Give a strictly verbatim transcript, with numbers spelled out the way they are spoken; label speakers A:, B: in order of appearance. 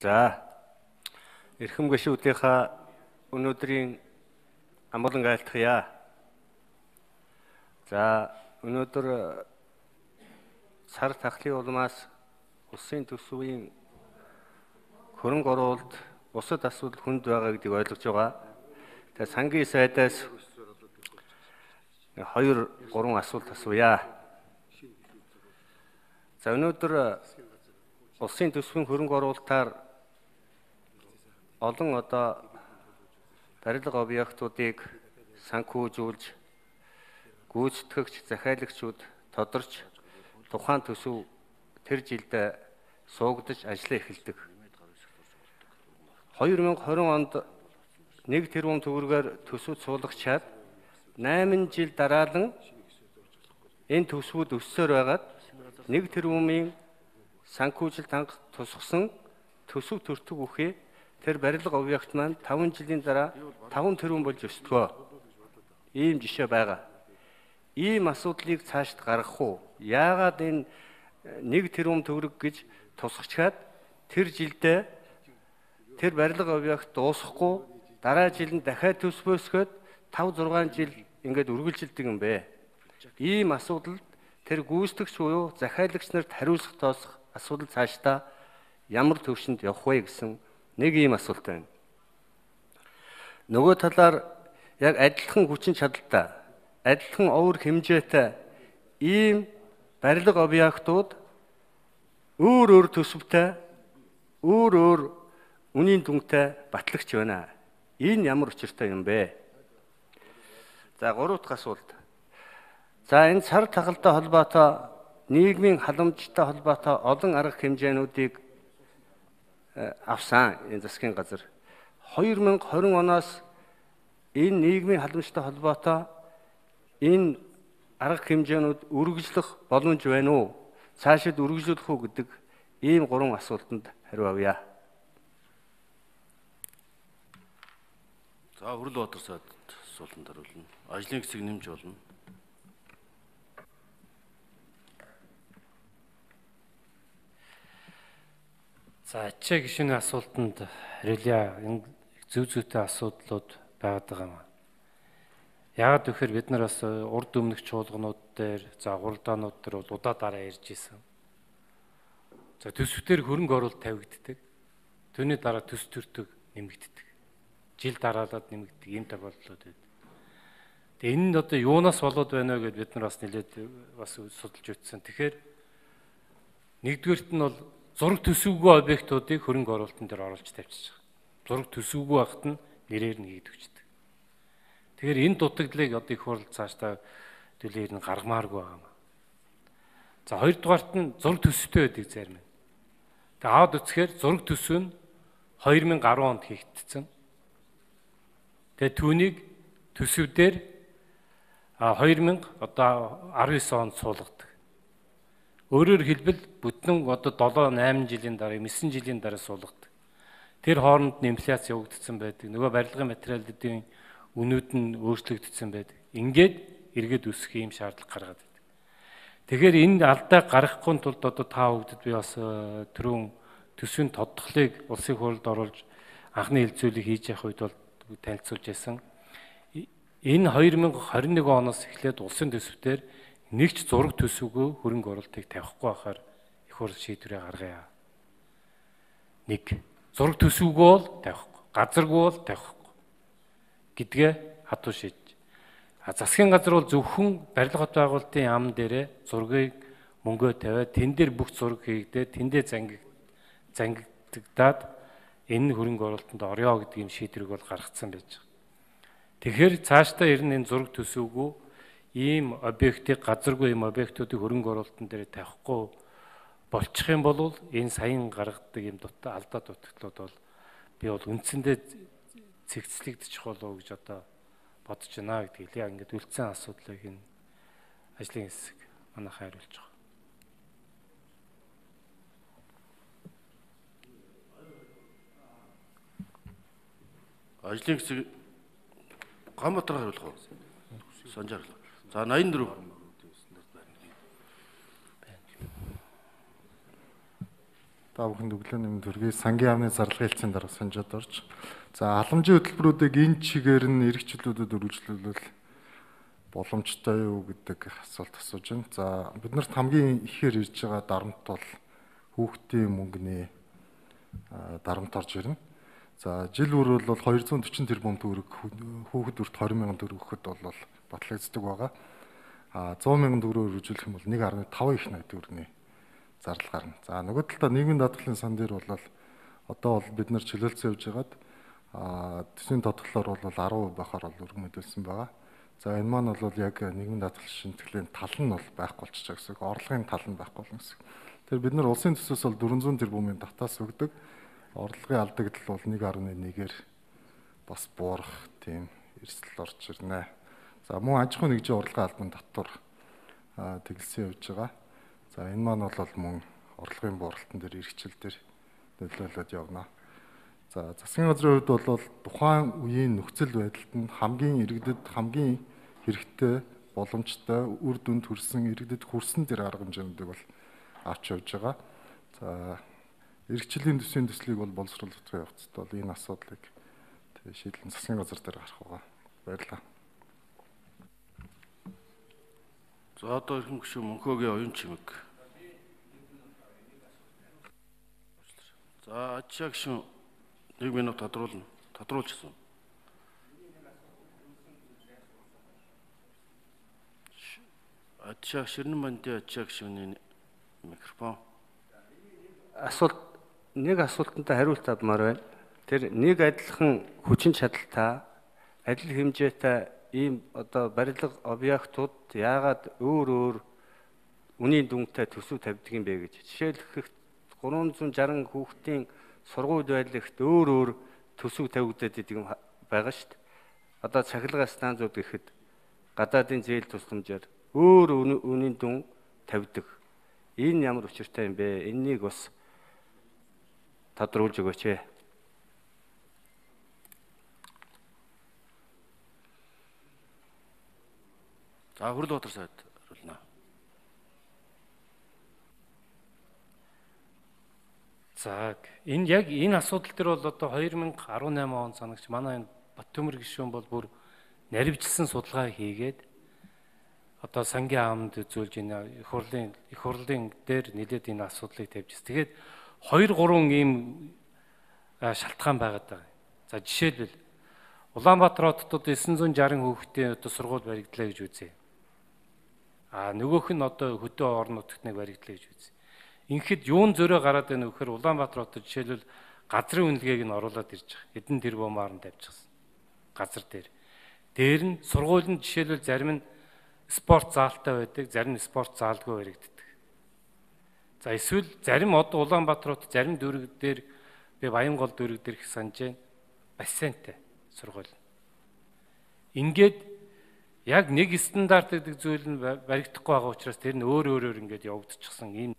A: За эрхэм гишүүдийнхаа өнөөдрийн амгалан айлтгая. За өнөөдөр сар тахлын улмаас улсын төсвийн хөрөнгө оруулалт бусад асуудал хүнд байгаа гэдгийг ойлгож байгаа. Тэгээ сангийн сайдаас хоёр гурван асуулт асууя. За өнөөдөр улсын төсвийн хөрөнгө оруулалтаар олон одоо барилга объектуудыг санхүүжүүлж гүйцэтгэгч захиалагчид тодорч тухайн төсөв тэр жилд суугдаж ажиллаа эхэлдэг. хоёр мянга хорин онд нэг тэрбум төгрөгөөр төсөв суулгачаад найман жил дараалан энэ төсвүүд өссөөр байгаад нэг тэрбумын санхүүжилт ханга тусгасан төсөв төртөг үхээ тэр барилга объект маань таван жилийн дараа таван тэрбум болж өсдгөө. Ийм жишээ байгаа. Ийм асуудлыг цаашд гаргах уу? Яагаад энэ нэг тэрбум төгрөг гэж тусгачаад тэр жилдээ тэр барилга объект дуусахгүй дараа жил нь дахиад төс бөөсгöd тав зургаан жил ингээд үргэлжилдэг юм бэ. Ийм асуудал тэр гүйцэтгэгч буюу захиалагч нарт хариулах тоосох асуудал цаашдаа ямар төвшөнд явах вэ гэсэн нэг ийм асуулт байна. Нөгөө талаар яг адилхан хүчин чадалтай, адилхан овөр хэмжээтэй ийм барилга объектууд өөр өөр төсөвтэй, өөр өөр үнийн дүнтэй батлагч байна. Энэ ямар учиртай юм бэ? За гурав дахь асуулт. За энэ сар тахалтай холбоотой нийгмийн халамжтай холбоотой олон арга хэмжээнүүдийг авсан энэ засгийн газар. хоёр мянга хорин оноос энэ нийгмийн халамжтай холбоотой энэ арга хэмжээнүүд үргэлжлэх боломж байна уу? Цаашид үргэлжлүүлэх үү гэдэг ийм гурван асуултанд хариу авъя.
B: За Хүрэл Баатар сайд асуултанд хариулна. Ажлын хэсэг нэмж болно.
C: За ачаа гишүүний асуултанд хариулъя. Энэ зөв зүйтэй асуудлууд байгаад байгаа юм. Яагаад гэхээр бид нар бас урд өмнөх чуулганууд дээр, за гуралдаанууд дээр бол удаа дараа ярьж исэн. За төсвтөр хөрөнгө оруулалт тавигддаг. Түүний дараа төс төртөг нэмэгддэг. Жил дараалаад нэмэгддэг ийм тохиолдлууд байдаг. Тэгээ энэ нь одоо юунаас болоод байна вэ гэдээ бид нар бас нэлээд бас судалж үзсэн. Тэгэхээр нэгдүгээрт нь бол зураг төсөвгүй объектуудыг хөрөнгө оруулалтын дээр оруулж тавьчих. Зураг төсөвгүй байхад нь нэрээр нь хийгдвчдэг. Тэгэхээр энэ дутагдлыг одоо их хурл цаашдаа төлөөр нь гаргамааргүй байгаа юм. За хоёрдугаарт нь зураг төсөвтэй байдаг зарим. Тэгээ аваад үзэхээр зураг төсөв нь хоёр мянга арван онд хийгдсэн. Тэгээ түүнийг төсөв дээр хоёр мянга одоо арван девять онд суулгадаг. Өөрөөр хэлбэл бүтэн одоо долоо найман жилийн дараа, найман жилийн дараа суулгадаг. Тэр хооронд нь инфляц явагдсан байдаг. Нөгөө барилгын материалуудын үнүүд нь өөрчлөгдсөн байдаг. Ингээд эргээд өсөх юм шаардлага гаргаад байдаг. Тэгэхээр энэ алдаа гаргахгүй тулд одоо та бүгдд би бас түрүүн төсвийн тодтголыг улсын хурлд оруулж анхны хэлцүүлэг хийж явах үед бол танилцуулж байсан. Энэ хоёр мянга хорин нэг оноос эхлээд улсын төсвтөр нэгч зураг төсөвгүй хөрөнгө оруулалтыг тавихгүй байхаар их хурл шийдвэрээ гаргая. Нэг зураг төсөвгүй бол тавихгүй, газаргүй бол тавихгүй гэдгээ хатуу шийдэж. А засгийн газар бол зөвхөн барилга хот байгуулалтын яам дээрээ зургийг мөнгөө тавиад тэн дээр бүх зураг хийгдээд тэндээ зангиг зангигдаад энэ хөрөнгө оруулалтанд орё гэдэг юм шийдвэрийг бол гаргацсан байж байгаа. Тэгэхээр цаашдаа ирнэ энэ зураг төсөвгүй ийм объектыг газаргүй ийм объектуудыг хөрөнгө оруулалтын дээр тавихгүй болчих юм бол энэ саяхан гаргадаг ийм дутаа алдаа дутагдлууд бол би бол үндсэндээ цэгцлэгдчих болов уу гэж одоо бодож байна гэдгийг яг ингээд үлдсэн асуудлыг энэ ажлын хэсэг манайх хариулж байгаа.
B: Ажлын хэсэг Ганбаатар хариулах уу? Санжаар. За восемьдесят дөрөв.
D: Та бүхэнд өглөөний мэнд хүргэе. Сангийн яамны зарлага хэлцээний дарга санжаад орж. За халамжийн хөтөлбөрүүдийг энэ чигээр нь эрхчлүүлүүдэд үргэлжлүүлвэл боломжтой юу гэдэг асуулт асууж байна. За бид нарт хамгийн ихээр ирж байгаа дарамт бол хүүхдийн мөнгөний дарамт орж ирнэ. За жил бүр бол двести сорок тэрбум төгрөг хүүхэд бүрт двадцать мянган төгрөг өгөхөд бол батлагддаг байгаа. А сто мянган төгрөгөөр үржүүлэх юм бол one point five их найт төгрөгийн зардал гарна. За нөгөө талдаа нийгмийн даатгалын сан дээр бол одоо бол бид нар чөлөөлсөн явж байгаад а төсвийн тодглоор бол ten percent байхаар бол өргөн мэдүүлсэн байгаа. За энэ маань бол яг нийгмийн даатгал шинтгэлийн тал нь бол байхгүй болчихж байгаа гэсэн. Орлогын тал нь байхгүй болно гэсэн. Тэгэхээр бид нар улсын төсөөс бол four hundred тэрбумын татаас өгдөг. Орлогын алдагдал бол one point one-ээр бас буурах тийм эрсдэл орж ирнэ. За мөн аж ахуйн нэгжийн орлогын албан татвар тэглэсэн явж байгаа. За энэ маань бол мөн орлогын бууралтан дээр эрхчлэл дээр нөлөөлөд явна. За засгийн газрын хувьд бол тухайн үеийн нөхцөл байдалд нь хамгийн иргэдэд хамгийн хэрэгтэй боломжтой үр дүнд хүрсэн иргэдэд хүрсэн тэр арга хэмжээнүүдийг бол авч явж байгаа. За эрхчлэлийн төсвийн төслийг бол боловсруулах явцад бол энэ асуудлыг шийдлэн засгийн газар дээр гарах байгаа. Баярлалаа.
B: За одоо ирхэн гүшүүн Мөнхөөгийн оюун чимэг. За ачаа гүшүүн one минут тодруулна. Тодруулчихсан. Ачаа Ширнэн бандын ачаа гүшүүний микрофон.
A: Асуулт нэг асуултанд хариулт авмаар байна. Тэр нэг адилхан хүчин чадалтай, адил хэмжээтэй ийм одоо барилга объектууд яагаад өөр өөр үнийн дүнтэй төсөв тавьдаг юм бэ гэж. Жишээлбэл three sixty хүүхдийн сургууль байлагт өөр өөр төсөв тавигдаад идэг юм байгаа шүү дээ. Одоо цахилгаан станцууд гэхэд гадаадын зээл тусламжаар өөр үнийн дүн тавьдаг. Энэ ямар учиртай юм бэ? Энэнийг бас тодруулж өгөөч ээ.
B: За Хөрлөбатар сайд хариулна.
C: За энэ яг энэ асуудал дээр бол одоо two thousand eighteen он санагч манай энэ Баттөмөр гишүүн бол бүр наривчилсан судалгаа хийгээд одоо сангийн аамд үзүүлж энэ их хурлын их хурлын дээр нэлээд энэ асуудлыг тавьжсэн. Тэгээд two three ийм шалтгаан байгаад байгаа. За жишээлбэл Улаанбаатар хотод nine sixty хүүхдийн одоо сургууль баригдлаа гэж үзье. А нөгөөх нь одоо хөдөө орон нутагт нэг баригдлаа гэж үзье. Ингээд юун зөрөө гараад байна вэ гэхээр Улаанбаатар хотод жишээлбэл газрын үнэлгээг нь оруулаад ирж байгаа. Хэдэн тэрбумаар нь тавьчихсан. Газар дээр. Дээр нь сургуулинд жишээлбэл зарим нь спорт заалтай байдаг, зарим нь спорт заалгүй баригддаг. За эсвэл зарим одоо Улаанбаатар хот зарим дүүрэг дээр би Баянгол дүүрэг дээр их санаж байна. Бассейнтэй сургууль. Ингээд яг нэг стандарт гэдэг зүйл нь баригдахгүй байгаа учраас тэр нь өөр өөрөөр ингээд явагдчихсан ийм